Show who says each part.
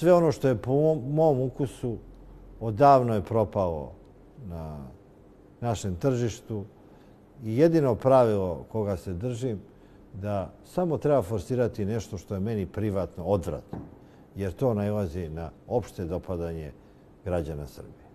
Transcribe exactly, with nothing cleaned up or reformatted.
Speaker 1: Sve ono što je po mom ukusu odavno je propalo na našem tržištu i jedino pravilo koga se držim da samo treba forsirati nešto što je meni privatno odvratno, jer to nailazi na opšte dopadanje građana Srbije.